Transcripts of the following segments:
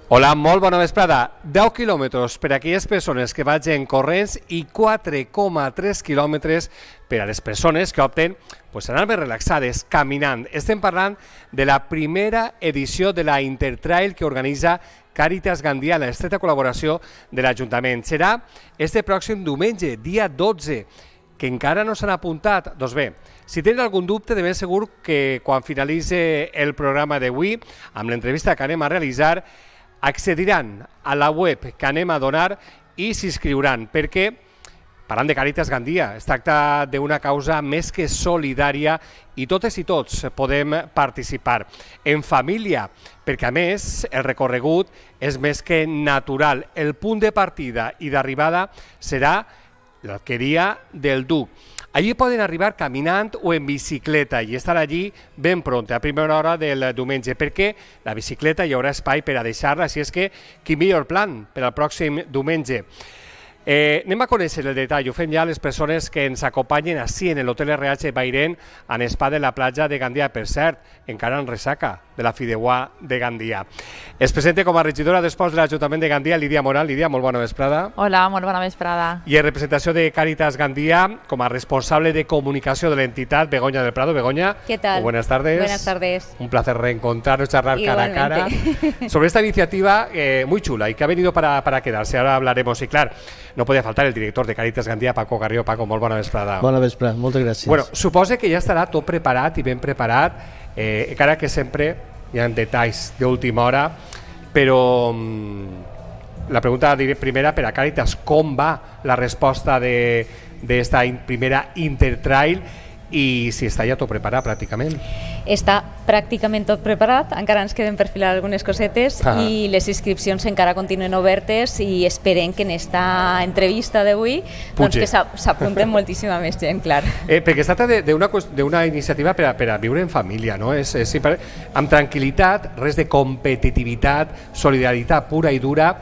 Hola, molt bona vesprada. 10 quilòmetres per a aquelles persones que vagin corrents i 4,3 quilòmetres per a les persones que opten anar més relaxades, caminant. Estem parlant de la primera edició de la Intertrail que organitza Càritas Gandia, la estreta col·laboració de l'Ajuntament. Serà este pròxim diumenge, dia 12, que encara no s'han apuntat. Doncs bé, si tenen algun dubte, de ben segur que quan finalitzi el programa d'avui, amb l'entrevista que anem a realitzar, accediran a la web que anem a donar i s'inscriuran, perquè, parlant de Càritas Gandia, es tracta d'una causa més que solidària i totes i tots podem participar en família, perquè a més el recorregut és més que natural. El punt de partida i d'arribada serà l'Alqueria del Duc. Allí poden arribar caminant o en bicicleta i estar allí ben pront, a primera hora del diumenge, perquè la bicicleta hi haurà espai per a deixar-la, així és que quin millor plan per al pròxim diumenge. Anem a conèixer el detall, ho fem ja les persones que ens acompanyen així en l'Hotel RH Bairén, en spa de la platja de Gandia, per cert, encara en ressaca de la Fideuà de Gandia. Es presenta com a regidora d'Esports de l'Ajuntament de Gandia, Lídia Moral. Lídia, molt bona vesprada. Hola, molt bona vesprada. I en representació de Càritas Gandia, com a responsable de comunicació de l'entitat, Begoña del Prado. Begoña, ¿qué tal? Buenas tardes. Buenas tardes. Un placer reencontrarnos, charlar cara a cara sobre esta iniciativa muy chula y que ha venido para quedarse. Ahora hablaremos, y claro, no podía faltar el director de Càritas Gandia, Paco Garrió. Paco, molt bona vesprada. Bona vesprada, moltes gràcies. Bueno, suposo que ja estarà tot preparat i ben preparat, encara que sempre hi ha detalls d'última hora, però la pregunta primera per a Càritas, com va la resposta d'esta primera Intertrail i si està ja tot preparat pràcticament? Està pràcticament tot preparat, encara ens queden per filar algunes cosetes i les inscripcions encara continuen obertes i esperem que en esta entrevista d'avui doncs que s'apunten moltíssima més gent, clar. Perquè es tracta d'una iniciativa per a viure en família, no? És amb tranquil·litat, res de competitivitat, solidaritat pura i dura.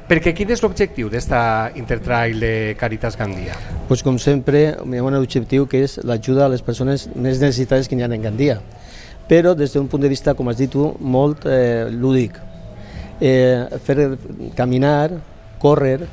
Perquè quin és l'objectiu d'esta Intertrail de Càritas Gandia? Pues com sempre, hi ha un objectiu que és l'ajuda a les persones més necessitades que hi ha en Gandia, però des d'un punt de vista, com has dit tu, molt lúdic. Fer caminar, córrer,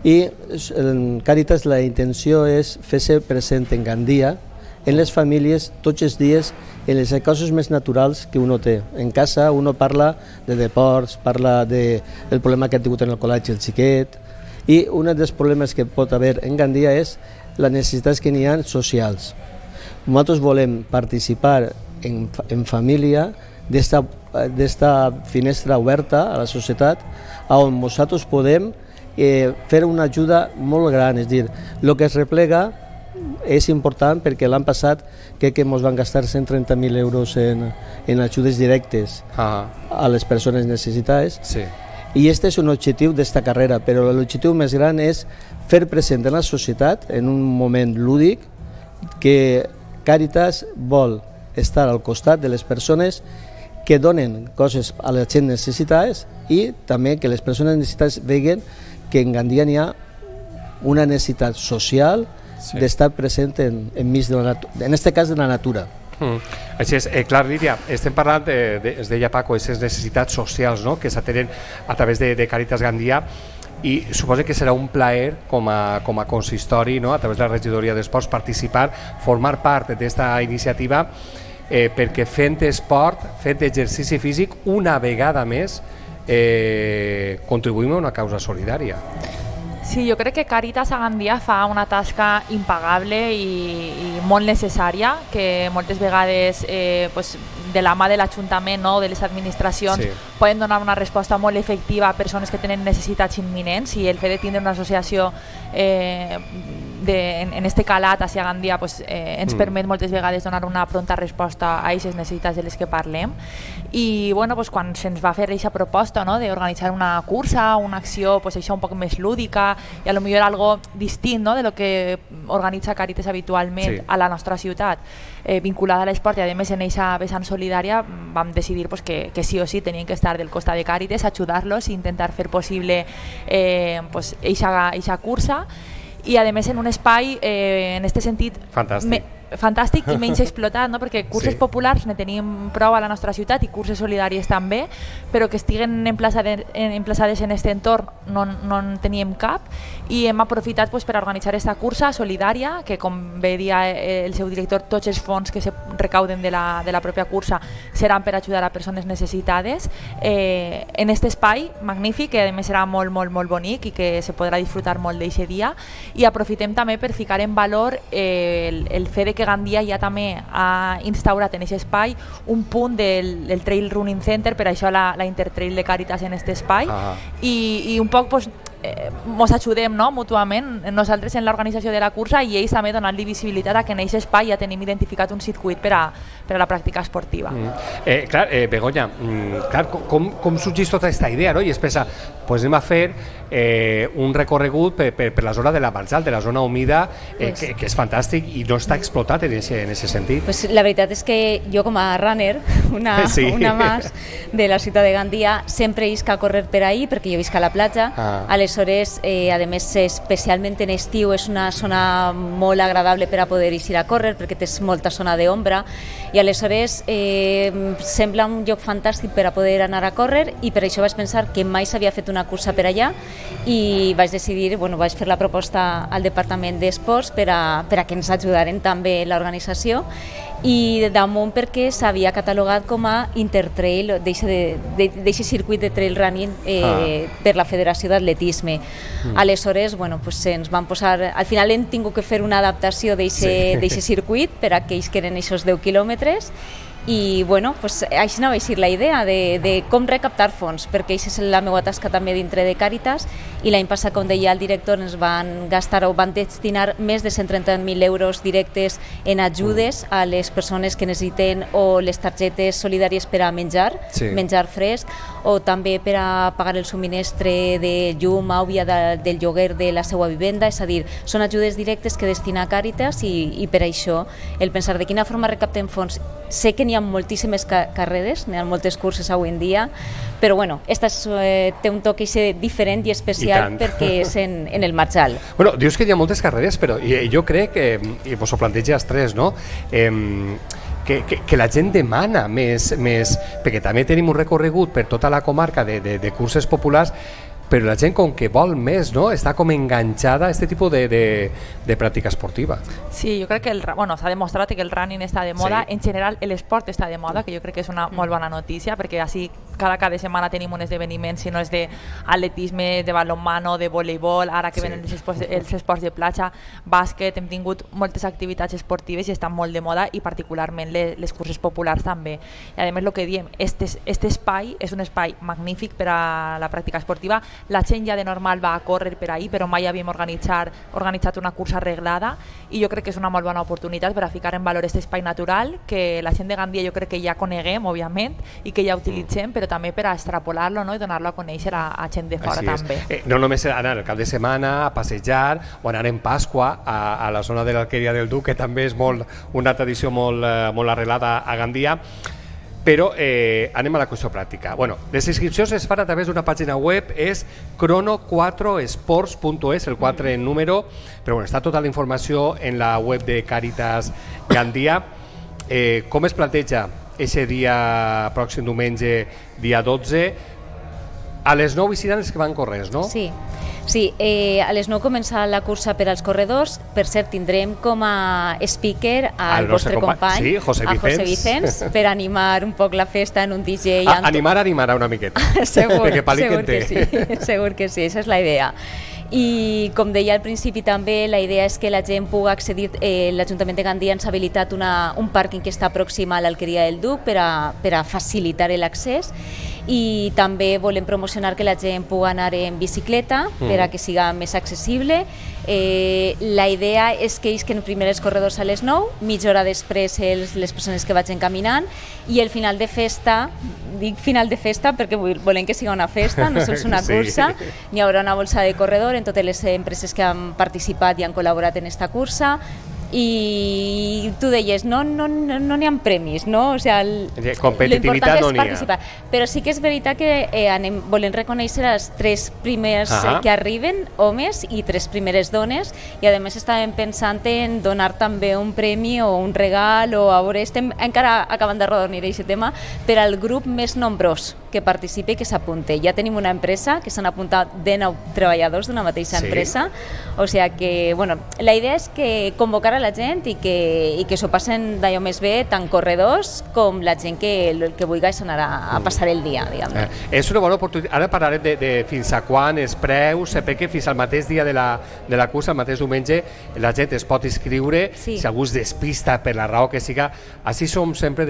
i en Càritas la intenció és fer-se present en Gandia, en les famílies, tots els dies, en les coses més naturals que uno té. En casa uno parla de deports, parla del problema que ha tingut en el col·legi el xiquet, i un dels problemes que pot haver en Gandia és les necessitats que n'hi ha socials. Nosaltres volem participar en família d'esta finestra oberta a la societat, on nosaltres podem fer una ajuda molt gran, és a dir, el que es replega és important perquè l'any passat crec que ens van gastar 130.000 euros en ajudes directes a les persones necessitades. Sí. I aquest és un objectiu d'esta carrera, però l'objectiu més gran és fer present en la societat, en un moment lúdic, que Càritas vol estar al costat de les persones que donen coses a la gent necessitades i també que les persones necessitades veguen que en Gandia n'hi ha una necessitat social d'estar present enmig de la natura, en aquest cas de la natura. Així és, clar, Lídia, estem parlant, es deia Paco, aquestes necessitats socials que s'atenen a través de Càritas Gandia, i suposo que serà un plaer com a consistori, a través de la regidoria d'Esports, participar, formar part d'aquesta iniciativa, perquè fent esport, fent exercici físic, una vegada més contribuïm a una causa solidària. Sí, jo crec que Càritas a Gandia fa una tasca impagable i molt necessària, que moltes vegades de la mà de l'Ajuntament o de les administracions poden donar una resposta molt efectiva a persones que tenen necessitats imminents, i el fet de tindre una associació en este calat hacia Gandia ens permet moltes vegades donar una pronta resposta a aquestes necessitats de les que parlem. I quan se'ns va fer aquesta proposta d'organitzar una cursa, una acció això un poc més lúdica i a lo millor algo distint de lo que organitza Càritas habitualment a la nostra ciutat, vinculada a l'esport i a més en aquesta vessant solidària, vam decidir que sí o sí tenien que estar del costat de Càritas, ajudar-los i intentar fer possible aquesta cursa, i a més en un espai en aquest sentit fantàstic i menys explotat, no? Perquè curses populars ne tenim prou a la nostra ciutat i curses solidàries també, però que estiguen emplaçades en aquest entorn no en teníem cap, i hem aprofitat per organitzar aquesta cursa solidària, que com bé dia el seu director, tots els fons que se recauden de la pròpia cursa seran per ajudar a persones necessitades, en aquest espai magnífic, que a més serà molt, molt, molt bonic i que se podrà disfrutar molt d'aquest dia. I aprofitem també per ficar en valor el fet que Gandia ja també ha instaurat en aquest espai un punt del Trail Running Center, per això la Intertrail de Càritas en aquest espai, i un poc ens ajudem mútuament, nosaltres en l'organització de la cursa i ells també donant-li visibilitat a que en aquest espai ja tenim identificat un circuit per a la pràctica esportiva. Clar, Begoña, com sorgeix tota aquesta idea, no? I es pensa, doncs anem a fer un recorregut per la zona de la Marjal, de la zona humida, que és fantàstic i no està explotat en aquest sentit. La veritat és que jo com a runner, una més de la ciutat de Gandia, sempre isc a córrer per ahí perquè jo visc a la platja. Aleshores, a més, especialment en estiu, és una zona molt agradable per a poder ir a córrer perquè tens molta zona d'ombra i aleshores sembla un lloc fantàstic per a poder anar a córrer, i per això vaig pensar que mai s'havia fet una cursa per allà i vaig decidir, vaig fer la proposta al Departament d'Esports per a que ens ajudaren també l'organització, i damunt perquè s'havia catalogat com a Intertrail, d'aquest circuit de trail running per la Federació d'Atletisme. Aleshores, ens van posar, al final hem tingut que fer una adaptació d'aquest circuit per a que ells queden aquests 10 quilòmetres, i així va ser la idea de com recaptar fons, perquè això és la meva tasca també dintre de Càritas, i l'any passat, com deia el director, ens van gastar o van destinar més de 130.000 euros directes en ajudes a les persones que necessiten o les targetes solidàries per a menjar fresc, o també per a pagar el subministre de llum, aigua, del lloguer de la seva vivenda, és a dir, són ajudes directes que destina Càritas, i per això el pensar de quina forma recaptem fons. Sé que n'hi ha moltíssimes carreres, n'hi ha moltes curses avui en dia, però esta té un toc diferent i especial perquè és en el Marjal. Dius que hi ha moltes carreres, però jo crec que, i vos ho planteja els tres, no? Que la gent demana més, perquè també tenim un recorregut per tota la comarca de curses populars, però la gent com que vol més, no? Està com enganxada a aquest tipus de pràctica esportiva. Sí, jo crec que s'ha demostrat que el running està de moda, en general l'esport està de moda, que jo crec que és una molt bona notícia, perquè així cada setmana tenim un esdeveniment, si no és d'atletisme, de balonmano, de voleibol, ara que venen els esports de platja, bàsquet, hem tingut moltes activitats esportives i estan molt de moda, i particularment les curses populars també. I a més, el que diem, este espai és un espai magnífic per a la pràctica esportiva. La gent ja de normal va a córrer per ahí, però mai havíem organitzat una cursa arreglada, i jo crec que és una molt bona oportunitat per a ficar en valor aquest espai natural que la gent de Gandia jo crec que ja coneguem, òbviament, i que ja utilitzem, però també per a extrapolar-lo, no? I donar-lo a conèixer a gent de fora també. No només anar el cap de setmana a passejar o anar en Pasqua a la zona de l'Alqueria del Duc, que també és una tradició molt arrelada a Gandia. Però anem a la qüestió pràctica. Les inscripcions es fan a través d'una pàgina web, és crono4sports.es, el 4 en número, però està tota la informació en la web de Càritas Gandia. Com es planteja aquest dia pròxim diumenge, dia 12? A les 9 hi seran els que van corrents, no? Sí, a les 9 comença la cursa per als corredors. Per cert, tindrem com a speaker al vostre company, José Vicens, per animar un poc la festa en un DJ. Animarà una miqueta. Segur que sí, esa és la idea. I com deia al principi també, la idea és que la gent pugui accedir, l'Ajuntament de Gandia ens ha habilitat un pàrquing que està pròxim a l'Alqueria del Duc per a facilitar l'accés, i també volem promocionar que la gent pugui anar en bicicleta per a que siga més accessible. La idea és que isquen primer els corredors a les 9, mitja hora després les persones que vagin caminant, i el final de festa, dic final de festa perquè volem que siga una festa, no sols una cursa, n'hi haurà una bolsa de corredor en totes les empreses que han participat i han col·laborat en aquesta cursa, i tu deies, no n'hi ha premis, no? O sigui, competitivitat no n'hi ha. Però sí que és veritat que volem reconèixer els 3 primers que arriben, homes, i 3 primeres dones, i a més estàvem pensant en donar també un premi o un regal, o a veure, estem encara acabant de rodonir aquest tema, per al grup més nombrós que participi i que s'apunte. Ja tenim una empresa que s'han apuntat 19 treballadors d'una mateixa empresa, o sigui que, bueno, la idea és que convocar a la gent i que s'ho passen d'allò més bé, tant corredors com la gent que vulgui anar a passar el dia, diguem-ne. És una bona oportunitat. Ara parlarem de fins a quan, els preus, perquè fins al mateix dia de la cursa, el mateix diumenge, la gent es pot inscriure, si algú es despista per la raó que siga. Així som sempre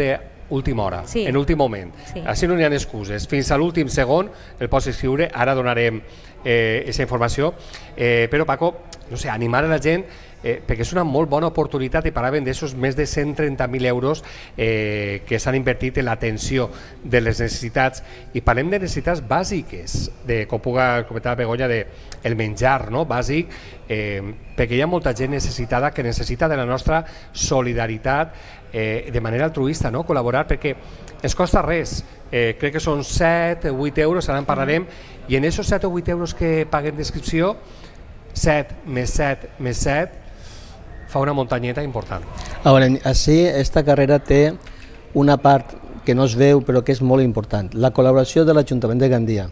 d'última hora, en últim moment. Així no n'hi ha excuses. Fins a l'últim segon el pots inscriure, ara donarem aquesta informació, però Paco, no sé, animar a la gent, perquè és una molt bona oportunitat, i parlàvem d'aixòs més de 130.000 euros que s'han invertit en l'atenció de les necessitats, i parlem de necessitats bàsiques, com puga comentar Begoña, del menjar bàsic, perquè hi ha molta gent necessitada que necessita de la nostra solidaritat de manera altruista, col·laborar, perquè ens costa res. Crec que són 7 o 8 euros, ara en parlarem, i en aquests 7 o 8 euros que paguem d'inscripció, 7 més 7 més 7 fa una muntanyeta important. Ahora, així, esta carrera té una part que no es veu però que és molt important, la col·laboració de l'Ajuntament de Gandia,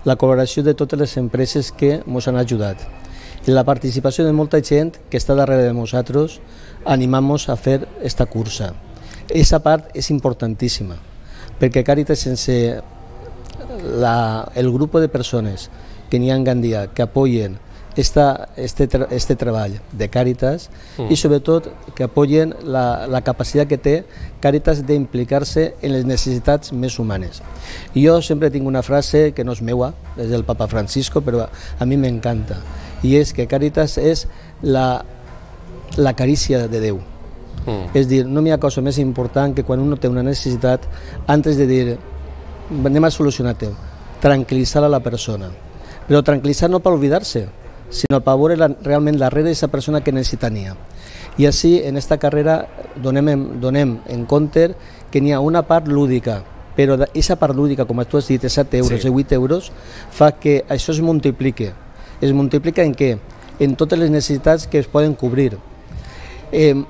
la col·laboració de totes les empreses que ens han ajudat i la participació de molta gent que està darrere de nosaltres animant-nos a fer esta cursa. Aquesta part és importantíssima, perquè Càritas, sense el grup de persones que n'hi ha en Gandia que apoyen este treball de Càritas i sobretot que apoyen la capacitat que té Càritas d'implicar-se en les necessitats més humanes. I jo sempre tinc una frase que no és meua, és del Papa Francisco, però a mi m'encanta, i és que Càritas és la carícia de Déu. És dir, no hi ha cosa més important que quan un té una necessitat, antes de dir anem a solucionar-ho, tranquil·litzar a la persona, però tranquil·litzar no per oblidar-se, sinó per veure realment darrere d'aquesta persona que necessitania. I així, en aquesta carrera, donem en compte que n'hi ha una part lúdica, però aquesta part lúdica, com tu has dit, de 7 euros i 8 euros, fa que això es multiplique. Es multiplica en què? En totes les necessitats que es poden cobrir.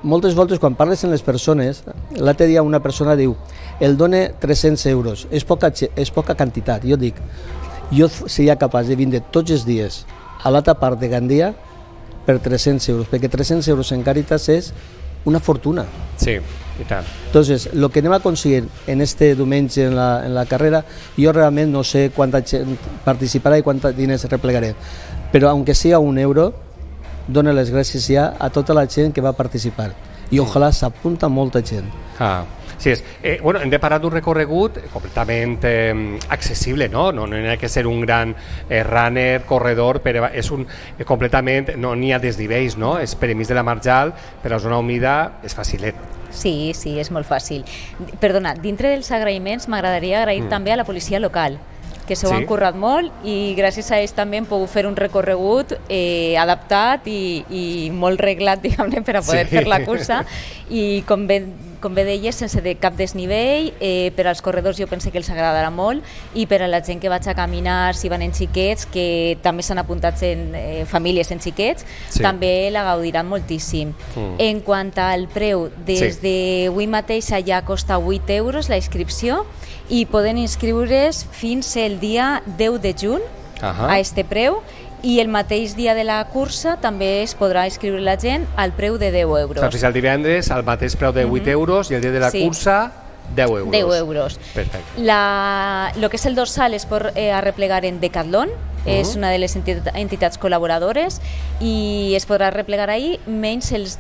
Moltes voltes, quan parles amb les persones, l'altre dia una persona diu el dona 300 euros, és poca quantitat. Jo dic, jo seria capaç de vindre tots els dies a l'altra part de Gandia per 300 euros, perquè 300 euros en Càritas és una fortuna. Sí, i tant. Entonces, lo que anem a aconseguir en este diumenge en la carrera, jo realment no sé quanta gent participarà i quants diners replegaré, però aunque sigui un euro, dona les gràcies ja a tota la gent que va participar i ojalà s'apunta molta gent. Sí, bueno, hem de parlar d'un recorregut completament accessible, no ha que ser un gran runner, corredor, però és completament, no n'hi ha desnivells, no? És per enmig de la marjal, per la zona humida, és facilet. Sí, és molt fàcil. Perdona, dintre dels agraïments m'agradaria agrair també a la policia local, que s'ho han currat molt i gràcies a ells també hem pogut fer un recorregut adaptat i molt reglat, diguem-ne, per a poder fer la cursa, i com bé deies, sense cap desnivell. Per als corredors jo penso que els agradarà molt, i per a la gent que vaig a caminar, si van en xiquets, que també s'han apuntat famílies en xiquets, també la gaudiran moltíssim. En quant al preu, des d'avui mateix ja costa 8 euros la inscripció, i poden inscriure's fins el dia 10 de juny a este preu, i el mateix dia de la cursa també es podrà inscriure la gent al preu de 10 euros. Fins al divendres al mateix preu de 8 euros i el dia de la cursa 10 euros. 10 euros. Perfecte. Lo que és el dorsal es pot arreplegar en Decathlon, és una de les entitats col·laboradores, i es podrà replegar ahir, menys els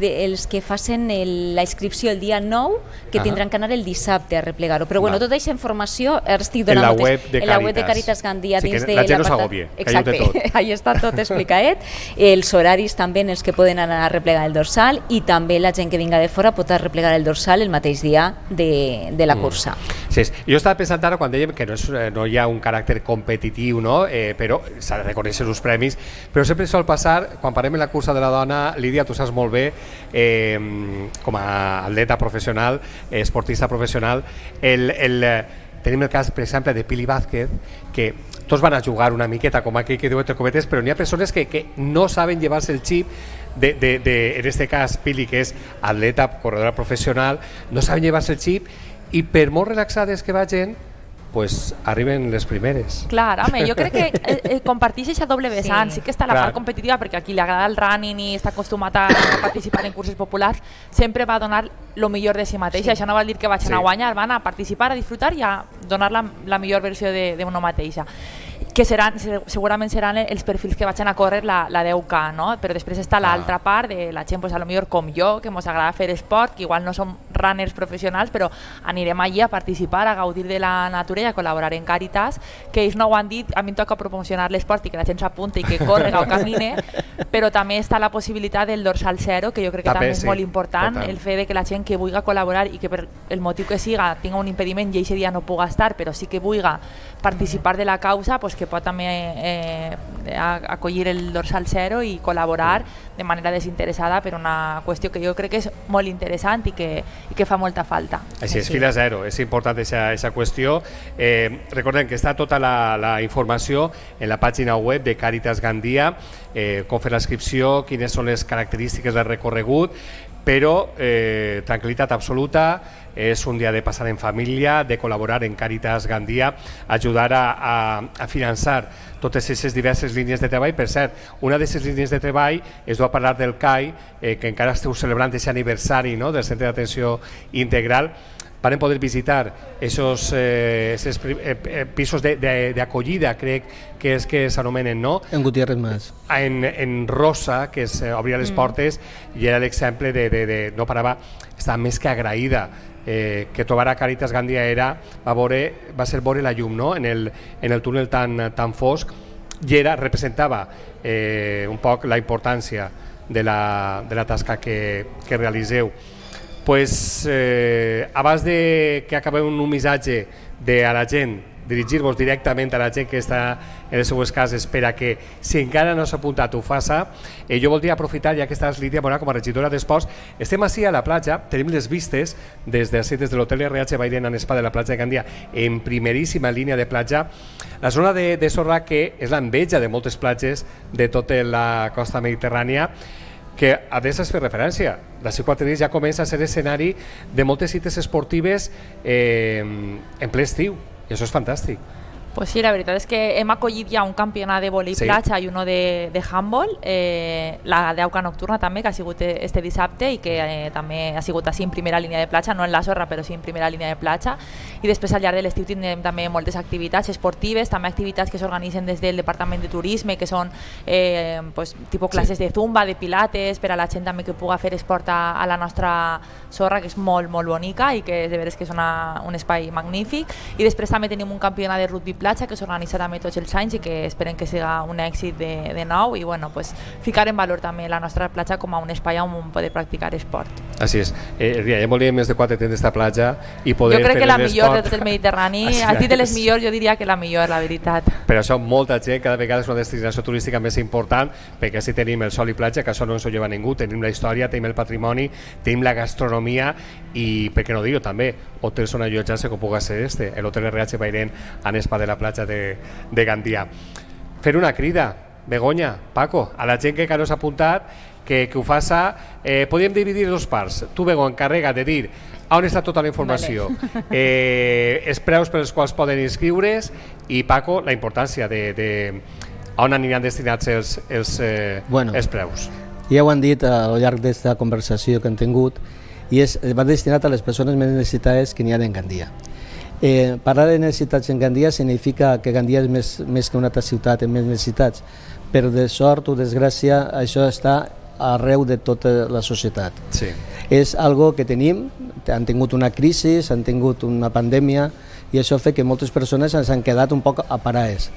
que facin la inscripció el dia 9, que tindran que anar el dissabte a replegar-ho. Però bueno, tota aquesta informació ara estic donant en la web de Càritas Gandia. Sí, que la gent no s'agobie, que hi ha de tot. Ahí està tot explicat, els horaris també en els que poden anar a replegar el dorsal, i també la gent que vinga de fora pot replegar el dorsal el mateix dia de la cursa. Sí, jo estava pensant ara quan dèiem que no hi ha un caràcter competitiu, no? Però s'ha de reconèixer els premis, però sempre sol passar, quan parlem en la cursa de la dona, Lídia, tu saps molt bé, com a atleta professional, esportista professional, tenim el cas, per exemple, de Pili Vázquez, que tots van a jugar una miqueta, com aquell que diu entre cometes, però n'hi ha persones que no saben llevar-se el xip en este cas Pili, que és atleta, corredora professional, no saben llevar-se el xip, i per molt relaxades que vagin, pues arriben les primeres. Clar, home, jo crec que comparteix aquesta doble vessant. Sí que està la part competitiva, perquè a qui li agrada el running i està acostumat a participar en curses populars, sempre va donar el millor de si mateixa. Això no vol dir que vagin a guanyar, van a participar, a disfrutar i a donar la millor versió d'una mateixa, que segurament seran els perfils que vagin a córrer la 10K, no? Però després està l'altra part de la gent, pues, a lo millor com jo, que ens agrada fer esport, que igual no som runners professionals, però anirem allí a participar, a gaudir de la natura i a col·laborar en Càritas, que ells no ho han dit, a mi em toca promocionar l'esport i que la gent s'apunti i que correga o camine, però també està la possibilitat del dorsal zero, que jo crec que també és molt important, el fet de que la gent que vulgui col·laborar i que per el motiu que siga tinga un impediment i aquest dia no puga estar, però sí que vulgui participar de la causa, pues que pot també acollir el dorsal zero i col·laborar de manera desinteressada per una qüestió que jo crec que és molt interessant i que fa molta falta. Així és, fila zero, és important aquesta qüestió. Recordem que està tota la informació en la pàgina web de Càritas Gandia, com fer la inscripció, quines són les característiques del recorregut, però tranquil·litat absoluta, és un dia de passar en família, de col·laborar en Càritas Gandia, ajudar a finançar totes aquestes diverses línies de treball. Per cert, una d'aquestes línies de treball és a parlar del CAI, que encara esteu celebrant aquest aniversari del Centre d'Atenció Integral. Van poder visitar aquests pisos d'acollida, crec que és que s'anomenen, no? En Gutiérrez Mas. En Rosa, que obria les portes, i era l'exemple de no parava, estava més que agraïda que trobar a Càritas Gandia va ser veure la llum, no? En el túnel tan fosc, i representava un poc la importància de la tasca que realiseu. Pues, abans que acabem un missatge a la gent, dirigir-vos directament a la gent que està en les seues cases per a que, si encara no s'ha apuntat, ho faça. Jo voldria aprofitar, ja que estàs, Lídia Morà, com a regidora d'Esports. Estem així a la platja, tenim les vistes des de l'hotel RH Bairén en Spa de la platja de Gandia, en primeríssima línia de platja. La zona de sorra, que és l'enveja de moltes platges de tota la costa mediterrània, que a més es fer referència. D'ací 4 dies ja comença a ser escenari de moltes cites esportives en ple estiu, i això és fantàstic. Pues sí, la veritat és que hem acollit ja un campionat de vòlei platja i uno de handball, la 10K nocturna també, que ha sigut este dissabte i que també ha sigut així en primera línia de platja, no en la sorra, però sí en primera línia de platja. I després al llarg de l'estiu tindrem també moltes activitats esportives, també activitats que s'organitzen des del Departament de Turisme, que són tipus classes de zumba, de pilates, per a la gent també que puga fer esport a la nostra sorra, que és molt, molt bonica i que de veres que és un espai magnífic. I després també tenim un campionat de rugby platja que s'organitza també tots els anys i que esperem que siga un èxit de nou i ficar en valor també la nostra platja com a un espai on poder practicar esport. Així és. Ja volíem més de 4 temps d'esta platja i poder fer l'esport. Jo crec que la millor de tot el Mediterrani, a ti de les millors jo diria que la millor, la veritat. Per això molta gent, cada vegada és una destinació turística més important, perquè així tenim el sol i platja, que això no ens ho lleva ningú, tenim la història, tenim el patrimoni, tenim la gastronomia i, per què no dir-ho també, hotels on allotjar-se com pugui ser l'hotel RH Bairén en Spa de la platja de Gandia. Fer una crida, Begoña, Paco, a la gent que no s'ha apuntat, que ho faça. Podríem dividir dos parts. Tu, Begoña, encarrega de dir on està tota la informació, els preus per els quals poden inscriure's, i Paco, la importància de on aniran destinats els preus. Ja ho han dit al llarg d'aquesta conversació que hem tingut, i va destinat a les persones més necessitades que n'hi ha en Gandia. Parlar de necessitats en Gandia significa que Gandia és més que una altra ciutat amb més necessitats, però de sort o desgràcia això està arreu de tota la societat. Sí. És algo que tenim, han tingut una crisi, han tingut una pandèmia, i això fa que moltes persones s'han quedat un poc aparades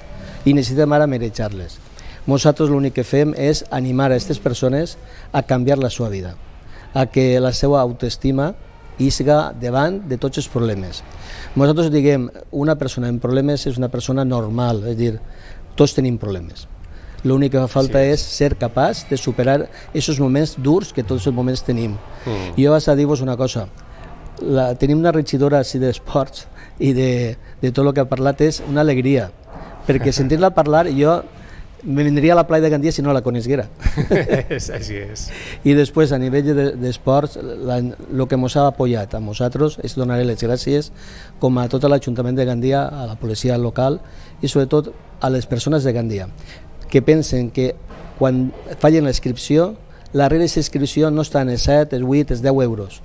i necessitem ara manejar-les. Nosaltres l'únic que fem és animar a aquestes persones a canviar la seva vida, a que la seva autoestima i siga davant de tots els problemes. Nosaltres diguem, una persona amb problemes és una persona normal, és a dir, tots tenim problemes. L'únic que fa falta és ser capaç de superar aquests moments durs que tots els moments tenim. Jo vaig a dir-vos una cosa, tenim una regidora així d'esports i de tot el que ha parlat és una alegria, perquè sentir-la parlar jo me vendria a la playa de Gandia si no la coneguera. Així és. I després, a nivell d'esports, el que ens ha apoyat a nosaltres és donar les gràcies com a tot l'Ajuntament de Gandia, a la policia local i sobretot a les persones de Gandia, que pensen que quan fallen la inscripció, la regla d'inscripció no està en els 7, els 8, els 10 euros.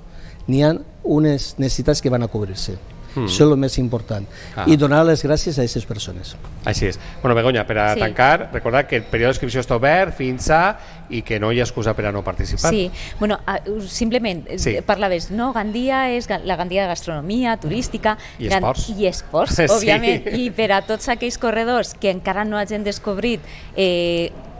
N'hi ha unes necessitats que van a cobrir-se. Això és el més important. I donar les gràcies a aquestes persones. Així és. Bueno, Begoña, per a tancar, recordar que el període d'inscripció està obert fins a i que no hi ha excusa per a no participar. Sí, bueno, simplement parlaves, no? Gandia és la Gandia de gastronomia, turística... I esports. I esports, òbviament. I per a tots aquells corredors que encara no hagin descobrit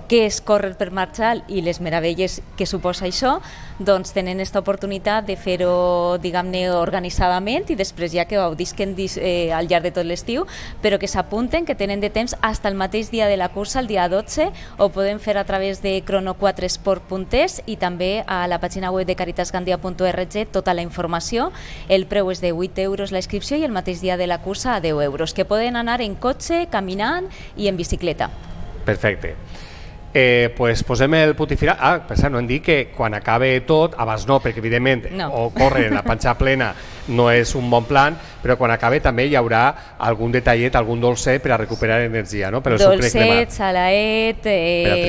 què és córrer per marxar i les meravelles que suposa això, doncs tenen aquesta oportunitat de fer-ho, diguem-ne, organitzadament i després ja que ho gaudisquen al llarg de tot l'estiu, però que s'apunten, que tenen de temps fins al mateix dia de la cursa, el dia 12, ho podem fer a través de crono4sport.es i també a la pàgina web de caritasgandia.org tota la informació. El preu és de 8 euros la inscripció i el mateix dia de la cursa a 10 euros, que poden anar en cotxe, caminant i en bicicleta. Perfecte. Pues posem el punt i final. Per cert, no hem dit que quan acabe tot, abans no, perquè evidentment o córrer en la panxa plena no és un bon plan, però quan acabe també hi haurà algun detallet, algun dolcet per a recuperar energia, no? Dolcet, salaet,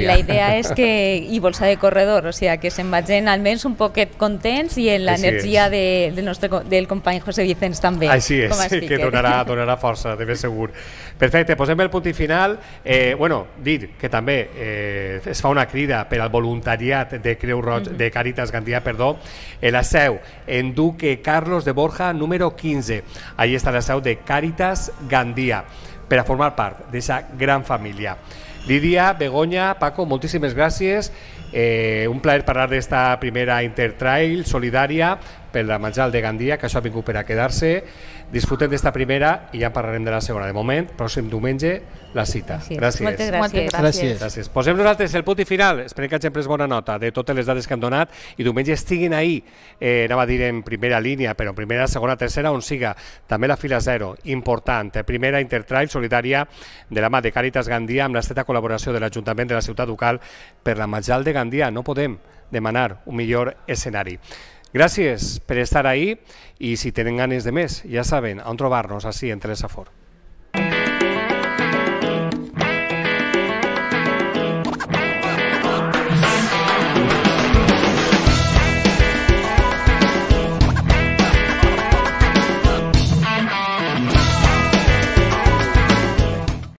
la idea és que i bolsa de corredor, o sigui, que se'n vagin almenys un poquet contents i en l'energia del company José Vicens també. Així és, que donarà força, de ben segur. Perfecte, posem el punt i final. Bueno, dir que també es fa una crida per al voluntariat de Creu Roja, de Càritas Gandia, perdó, en la seu en Duque Carlos de Borja, número 15. Ahí està la seu de Càritas Gandia, per a formar part d'aquesta gran família. Lídia, Begoña, Paco, moltíssimes gràcies. Un plaer parlar d'esta primera Intertrail solidària per la Majal de Gandia, que això ha vingut per a quedar-se. Disfruten d'esta primera i ja en parlarem de la segona. De moment, pròxim diumenge, la cita. Gràcies. Moltes gràcies. Posem nosaltres el punt i final. Esperem que hagin pres bona nota de totes les dades que hem donat i diumenge estiguin ahí, anava a dir en primera línia, però en primera, segona, tercera, on siga. També la fila 0, important. Primera Intertrail solidària de la mà de Càritas Gandia amb l'estreta col·laboració de l'Ajuntament de la Ciutat Ducal per la Majal de Gandia. No podem demanar un millor escenari. Gràcies per estar ahí i si tenen ganes de més, ja saben on trobar-nos, així en Telesafor.